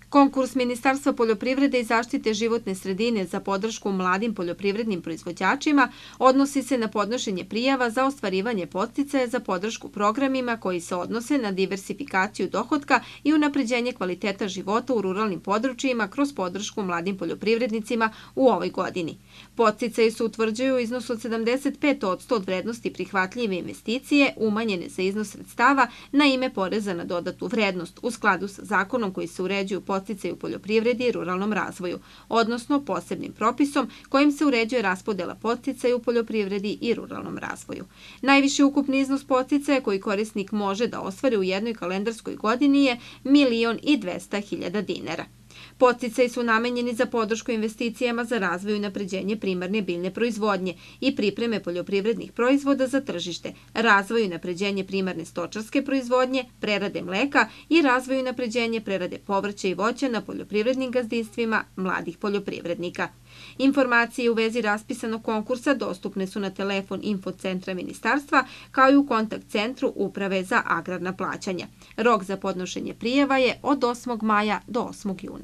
Konkurs Ministarstva poljoprivrede i zaštite životne sredine za podršku mladim poljoprivrednim proizvođačima odnosi se na podnošenje prijava za ostvarivanje podsticaja za podršku programima koji se odnose na diversifikaciju dohotka i unapređenje kvaliteta života u ruralnim područjima kroz podršku mladim poljoprivrednicima u ovoj godini. Podsticaji se utvrđuju u iznosu od 75% od vrednosti prihvatljive investicije umanjene za iznos sredstava na ime poreza na dodatu vrednost u skladu sa zakonom koji se uređuju podsticaj u poljoprivredi i ruralnom razvoju, odnosno posebnim propisom kojim se uređuje raspodela podsticaja u poljoprivredi i ruralnom razvoju. Najviši ukupni iznos podsticaja koji korisnik može da ostvari u jednoj kalendarskoj godini je 1.200.000 dinara. Podsticaji su namenjeni za podršku investicijama za razvoj i unapređenje primarne biljne proizvodnje i pripreme poljoprivrednih proizvoda za tržište, razvoj i unapređenje primarne stočarske proizvodnje, prerade mleka i razvoj i unapređenje prerade povrća i voća na poljoprivrednim gazdinstvima mladih poljoprivrednika. Informacije u vezi raspisanog konkursa dostupne su na telefon infocentra ministarstva kao i u kontakt centru Uprave za agrarna plaćanja. Rok za podnošenje prijava je od 8. maja do 8. juna.